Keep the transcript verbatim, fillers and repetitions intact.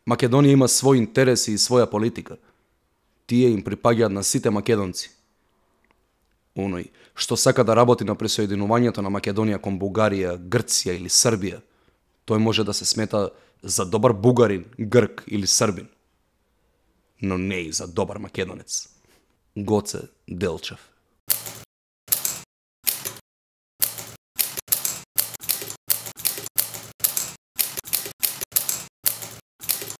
Македонија има своји интереси и своја политика. Тие им припаѓаат на сите македонци. Оној што сака да работи на присоединувањето на Македонија кон Бугарија, Грција или Србија, тој може да се смета за добар бугарин, грк или србин, но не и за добар македонец. Гоце Делчев.